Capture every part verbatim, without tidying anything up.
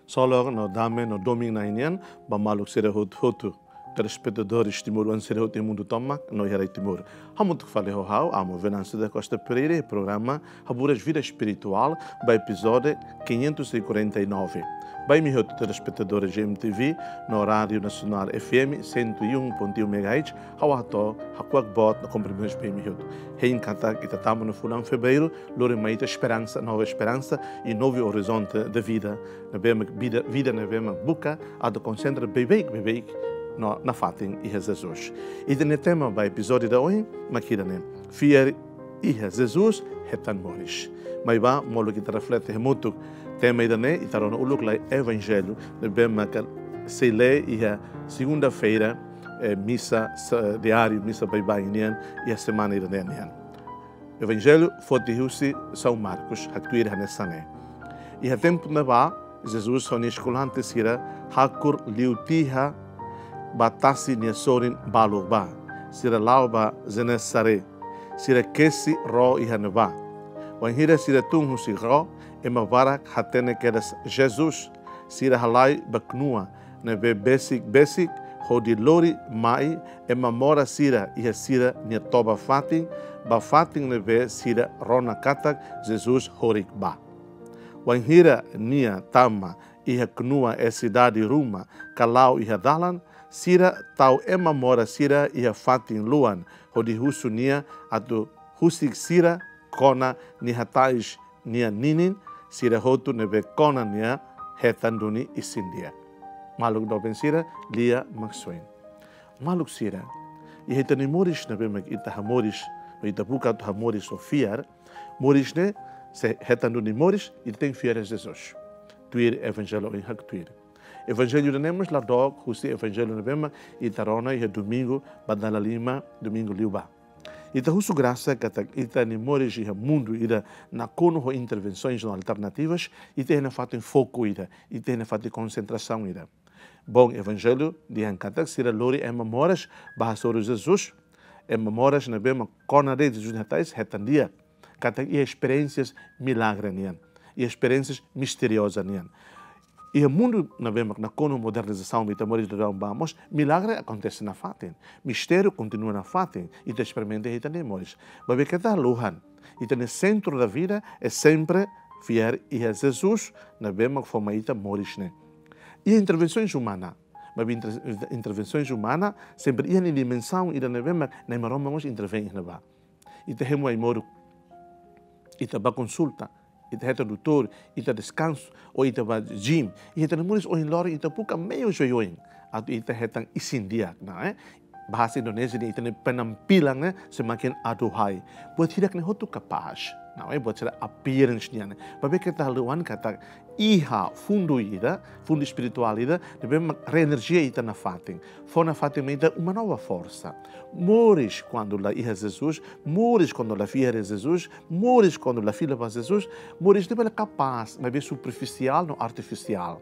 Solok no dame no domin Na'i nian ba maluk sira hotu-hotu, telespetadores timoroan sira hotu iha mundu tomak no iha rai Timor. Hamutuk fali ho ha'u, Amo Venâncio da Costa Pereira, iha programa Haburas Vida Espirituál, ba epizódiu quinhentos e quarenta e nove. Ba imi hotu telespetadores G M T V no Rádio Nacional F M cento e um ponto um megahertz, ha'u hato'o hakuak boot no kumprimentus ba imi hotu. Hein katak ita tama iha fulan Fevereiru, lori mai ita esperansa, nova esperansa e novo horizonte de vida. Ne'ebé mak vida, vida ne'ebé mak buka atu konsentra beibeik, beibeik no nafatin iha Jesus. Ita-nia tema ba epizódiu ida ohin mak ida-ne'e: Fiar iha Jesus hetan moris. Mai bá, molok ita reflete hamutuk tema ida-ne'e, ita rona uluk lai Evanjellu ne'ebé mak sei lee iha segunda-feira, eh, misa sa-, diáriu, misa baibain nian iha semana ida-ne'e nian. Evanjellu foti husi São Marcos, haktuir hanesan ne'e: Iha tempu ne'ebá, Jesus ho nia eskolante sira hakur liu tiha ba tasi nia sorin balu bá. Sira la'o ba Genezaré. Sira kesi ró iha ne'ebá. Wainhira sira tun husi ró, ema barak hatene kedas Jesus. Sira halai ba knua ne'ebé besik-besik hodi lori mai ema moras sira iha sira-nia toba-fatin, ba fatin ne'ebé sira rona katak Jesus horik bá. Wainhira nia tama iha knua, eh, sidade ruma ka la'o iha dalan, sira tau ema moras sira iha fatin luan, hodi husu nia atu husik sira kona nia hatais nia ninin, sira hotu ne'ebé kona nia hetan duni isin-di'ak. Maluk doben sira, lia Maxwell. Maluk sira, iha ita-nia moris ne'ebé mak ita hamoris, no ita buka atu hamoris ho fiar, moris ne'e, se hetan duni moris, ita tenke fiar iha Jesus. Tuir Evanjellu ohin haktuir. Evanjellu ida-ne'e mós la dook husi Evanjellu ne'ebé mak ita rona iha domingu ba dala lima, domingu liubá. Ita husu grasa katak ita-nia moris iha mundu ida nakonu ho intervensoens no alternativas, ita iha nafatin foku ida, ita iha nafatin konsentrasaun ida. Bom, Evanjellu dehan katak sira lori ema moras bá hasoru Jesus, ema moras ne'ebé mak kona de'it Jesus nia hatais, hetan di'ak. Katak iha esperiénsias milagre nian, iha esperiénsias misterioza nian. Iha mundu ne'ebé mak nakonu modernizasaun, ita moris daudaun bá mós, milagre akontese nafatin. Mistériu kontinua nafatin, ita esperimenta iha ita-nia moris. Maibé keta haluhan, ita-nia sentru da vida é sempre fiar iha Jesus, ne'ebé mak fó mai ita moris ne'e. Iha intervensoens umana, maibé inter-, intervensoens umana sempre iha nia dimensaun ida ne'ebé mak Na'i Maromak mós intervein iha ne'ebá. Ita hemu ai-moruk, ita bá konsulta, ita hetan doutór, ita deskansa, ou ita bá gym, iha ita-nia moris ohin loron ita buka meius oioin atu ita hetan isin-di'ak, ne'e? Bahasa Indonézia dehan ita-nia penampilan ne'e semakin aduhai. Buat hirak ne'e hotu kapás, ne'e? Buat sira appearance nian ne'e. Maibé keta haluhan katak iha fundu ida, fundu espirituál ida, ne'ebé mak reenerjia ita nafatin. Fó nafatin mai ita uma nova forsa. Moris kuandu la iha Jesus, moris kuandu la fiar iha Jesus, moris kuandu la fila ba Jesus, moris ne'e bele kapás, maibé superfisiál no artifisiál.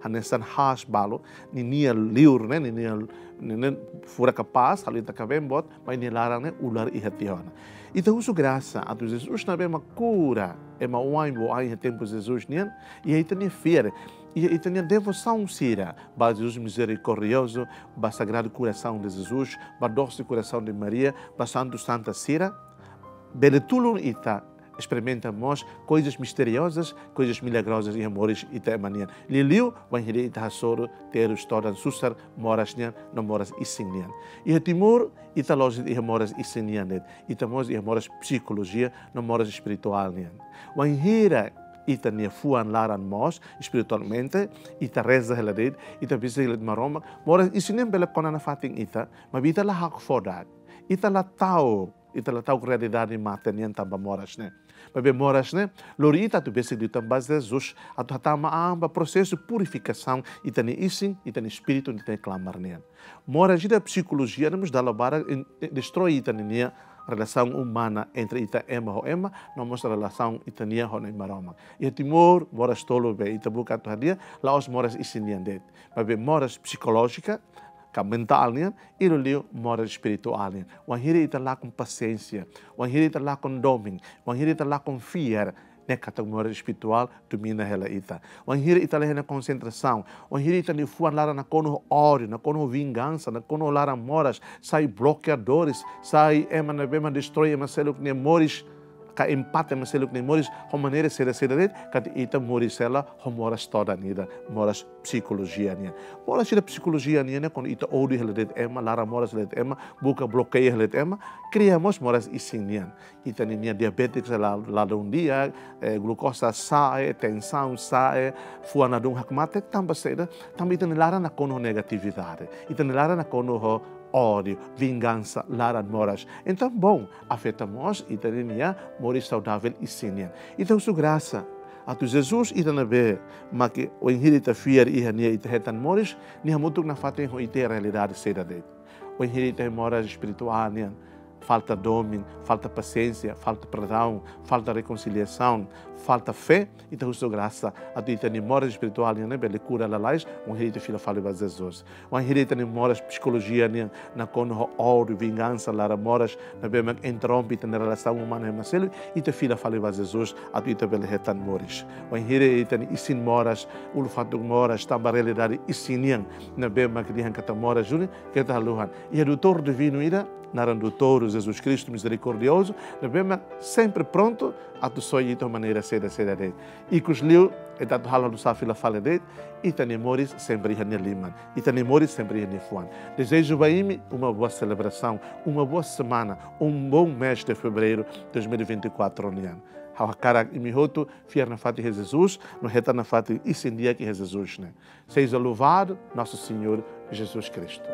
Hanesan haas balu, ninia liur ne'e, ninia, ninia furak kapás, halo ita kabeen boot, maibé nia laran ne'e ular iha tiha ona. Ita husu grasa atu Jesus ne'ebé mak kura ema oan-oan iha tempu Jesus nian, iha ita-nia fiar, iha ita-nia devosaun sira ba Jesus mizerikordiozu, ba Sagrado Coração de Jesus, ba Doce Coração de Maria, ba santu santa sira, bele tulun ita esperimenta mós koizas misteriozas, koizas milagrozas iha moris ita ema nian. Liuliu wainhira ita hasoru, terus, todan, susar moras nian no moras isin nian. Iha Timor, ita la'ós de'it iha moras isin nian de'it, ita mós iha moras psikolojia no moras espirituál nian. Wainhira ita-nia fuan laran moos espiritualmente, ita reza hela de'it, ita besik hela de'it Maromak, moras isin nian bele kona nafatin ita, maibé ita la hakfodak, ita la ta'uk, ita la ta'uk realidade mate nian tanba moras ne'e. Maibé moras ne'e lori ita atu besik liután ba Jesus, atu hatama an ba prosesu purifikasaun ita-nia isin, ita-nia espíritu, ita-nia klamar nian. Moras ida psikolojia ne'e mós dala barak in-, in-, destroi ita-nia relasaun umana entre ita ema ho ema, no mós relasaun ita-nia ho Na'i Maromak. Iha Timor, moras tolu be ita buka atu hadi'a, la'ós moras isin nian de'it, maibé moras psikolójika, ka mentál nian, i liuliu moras espirituál nian. Wainhira ita lakon pasiénsia, wainhira ita lakon domin, wainhira ita lakon fiar, Ne'e katak moras espirituál domina hela ita. Wainhira ita la iha ona konsentrasaun, wainhira ita-nia fuan laran nakonu ódiu, nakonu vingansa, nakonu laran moras, sai blokeadores, sai ema ne'ebé mak destroi ema seluk nia moris, ka empata ema seluk nia moris ho maneira saida-saida de'it, katak ita moris hela ho moras todan ida, moras psikolojia nian. Moras ida psikolojia nian ne'e, kuandu ita ódiu hela de'it ema, laran moras hela de'it ema, buka blokeia hela de'it ema, kria mós moras isin nian. Ita-nia diabétiku sa'e la, ladún di'ak, eh, glukosa sa'e, tensaun sa'e, fuan ladún hakmatek, tanba saida? Tanba ita-nia laran nakonu ho negatividade, ita-nia laran nakonu ho ódiu, vingansa, laran moras. Entaun, bom, afeta mós ita-nia moris saudavel isin nian. Ita husu grasa atu Jesus, ita ne'ebé mak wainhira ita fiar iha Nia ita hetan moris, Nia hamutuk nafatin ho ita iha realidade saida de'it. Wainhira ita iha moras espirituál nian, falta domin, falta pasiénsia, falta perdaun, falta rekonsiliasaun, falta fé, ita husu grasa atu ita-nia moras espirituál nian ne'e bele kura lalais, wainhira ita fila fali ba Jesus. Wainhira ita-nia moras psikolojia nian nakonu ho ódiu, vingansa, laran moras ne'ebé mak interrompe ita-nia relasaun umana ho ema seluk, ita fila fali ba Jesus atu ita bele hetan moris. Wainhira ita-nia isin moras, ulun-fatuk moras, tanba realidade isin nian ne'ebé mak dehan katak moras duni, keta haluha. Iha doutór divinu ida, naran Doutór Jesus Kristu mizerikordiozu, ne'ebé mak sempre prontu atu soe ita ho maneira saida-saida de'it. Ikusliu, ita atu halo hanusa fila fali de'it, ita-nia moris sempre iha nia liman, ita-nia moris sempre iha nia fuan. Dezeju ba imi uma boa celebração, uma boa semana, um bom mês de fevereiro dois mil e vinte e quatro nian. Ha'u hakarak imi hotu fiar nafatin iha Jesus, no hetan nafatin isin di'ak iha Jesus ne'e. Seja louvado nosso Senhor Jesus Cristo.